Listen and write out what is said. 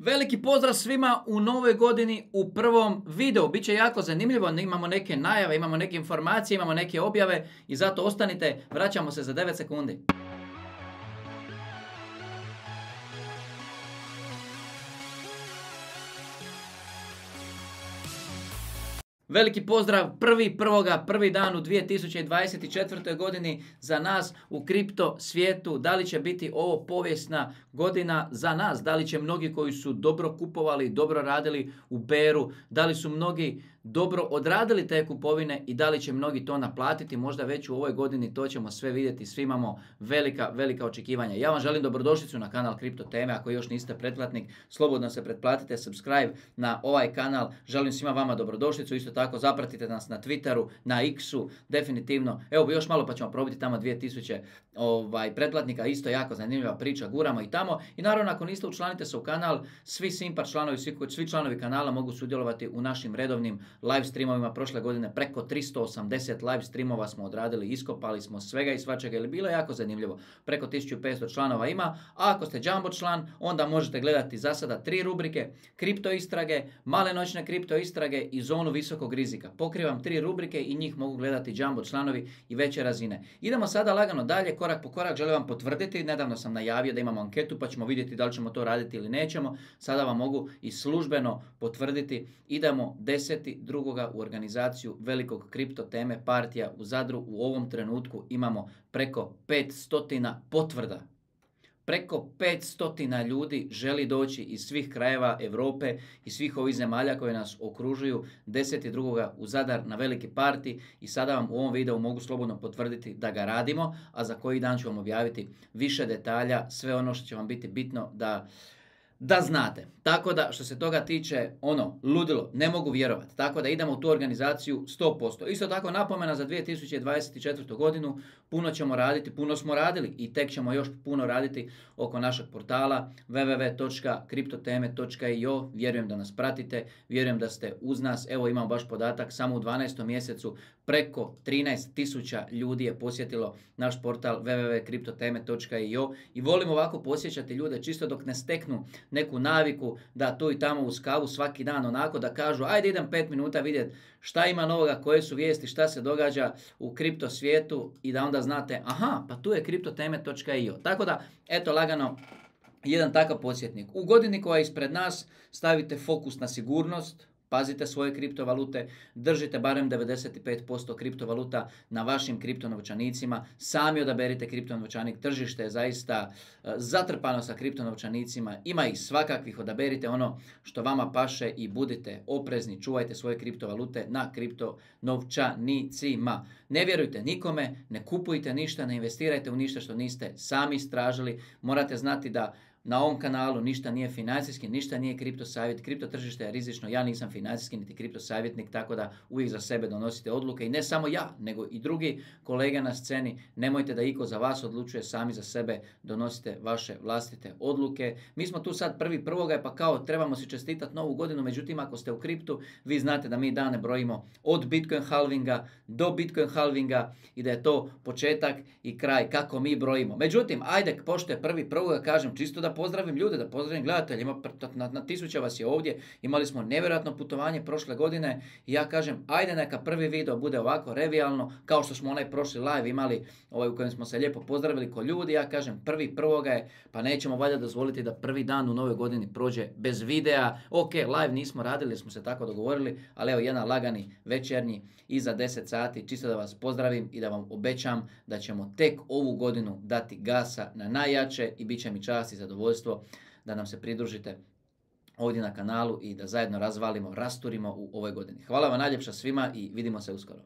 Veliki pozdrav svima u novoj godini u prvom videu. Biće jako zanimljivo, imamo neke najave, imamo neke informacije, imamo neke objave i zato ostanite, vraćamo se za 9 sekundi. Veliki pozdrav, prvi dan u 2024. godini za nas u kripto svijetu. Da li će biti ovo povijesna godina za nas? Da li će mnogi koji su dobro kupovali, dobro radili u beru, da li su mnogi dobro odradili te kupovine i da li će mnogi to naplatiti možda već u ovoj godini, to ćemo sve vidjeti. Svi imamo velika očekivanja. Ja vam želim dobrodošlicu na kanal Kripto Teme. Ako još niste pretplatnik, slobodno se pretplatite, subscribe na ovaj kanal. Želim svima vama dobrodošlicu. Isto tako zapratite nas na Twitteru, na X-u, definitivno. Evo još malo pa ćemo probiti tamo 2000 pretplatnika. Isto jako zanimljiva priča, guramo i tamo. I naravno ako niste, učlanite se u kanal. Svi Simpar članovi, svi članovi kanala mogu sudjelovati u našim redovnim live streamovima. Prošle godine preko 380 live streamova smo odradili, iskopali smo svega i svačega, ili bilo je jako zanimljivo. Preko 1500 članova ima, a ako ste jumbo član, onda možete gledati za sada 3 rubrike: kripto istrage, male noćne kripto istrage i zonu visokog rizika. Pokrivam 3 rubrike i njih mogu gledati jumbo članovi i veće razine. Idemo sada lagano dalje, korak po korak. Želim vam potvrditi, nedavno sam najavio da imamo anketu pa ćemo vidjeti da li ćemo to raditi ili nećemo. Sada vam mogu i službeno potvrditi, idemo 10.2. u organizaciju velikog kripto teme partija u Zadru. U ovom trenutku imamo preko 500 potvrda. Preko 500 ljudi želi doći iz svih krajeva Europe i svih ovih zemalja koje nas okružuju 10.2. u Zadar na veliki parti i sada vam u ovom videu mogu slobodno potvrditi da ga radimo, a za koji dan ću vam objaviti više detalja, sve ono što će vam biti bitno da znate. Tako da što se toga tiče, ludilo, ne mogu vjerovati. Tako da idemo u tu organizaciju 100%. Isto tako napomena za 2024. godinu, puno ćemo raditi, puno smo radili i tek ćemo još puno raditi oko našeg portala www.kriptoteme.io. Vjerujem da nas pratite, vjerujem da ste uz nas. Evo imamo baš podatak, samo u 12. mjesecu preko 13.000 ljudi je posjetilo naš portal www.kriptoteme.io i volim ovako posjećati ljude čisto dok ne steknu neku naviku da tu i tamo uz kavu svaki dan onako da kažu ajde idem 5 minuta vidjeti šta ima novoga, koje su vijesti, šta se događa u kripto svijetu i da onda znate aha, pa tu je kriptoteme.io. Tako da, eto lagano, jedan takav podsjetnik. U godini koja je ispred nas stavite fokus na sigurnost, pazite svoje kriptovalute, držite barem 95% kriptovaluta na vašim kriptonovčanicima, sami odaberite kriptonovčanik, tržište je zaista zatrpano sa kriptonovčanicima, ima ih svakakvih, odaberite ono što vama paše i budite oprezni, čuvajte svoje kriptovalute na kriptonovčanicima. Ne vjerujte nikome, ne kupujte ništa, ne investirajte u ništa što niste sami istražili, morate znati da na ovom kanalu ništa nije financijski, ništa nije kripto savjet, kripto tržište je rizično, ja nisam financijski niti kripto savjetnik, tako da uvijek za sebe donosite odluke i ne samo ja, nego i drugi kolege na sceni. Nemojte da iko za vas odlučuje, sami za sebe donosite vaše vlastite odluke. Mi smo tu sad 1.1. pa kao trebamo si čestitati novu godinu, međutim ako ste u kriptu, vi znate da mi dane brojimo od Bitcoin halvinga do Bitcoin halvinga i da je to početak i kraj kako mi brojimo. Međutim, ajde, pošto je 1.1. kažem čisto da pozdravim ljude, da pozdravim gledatelje, na tisuća vas je ovdje, imali smo nevjerojatno putovanje prošle godine i ja kažem, ajde neka prvi video bude ovako revijalno, kao što smo onaj prošli live imali, u kojem smo se lijepo pozdravili ko ljudi, ja kažem 1.1. je, pa nećemo valjda dozvoliti da prvi dan u novoj godini prođe bez videa. Ok, live nismo radili, smo se tako dogovorili, ali evo jedan lagani večernji iza 10 sati, čisto da vas pozdravim i da vam obećam da ćemo tek ovu godinu dati gasa na najjače i bit će mi čast i zadovoljstvo da nam se pridružite ovdje na kanalu i da zajedno razvalimo, rasturimo u ovoj godini. Hvala vam najljepša svima i vidimo se uskoro.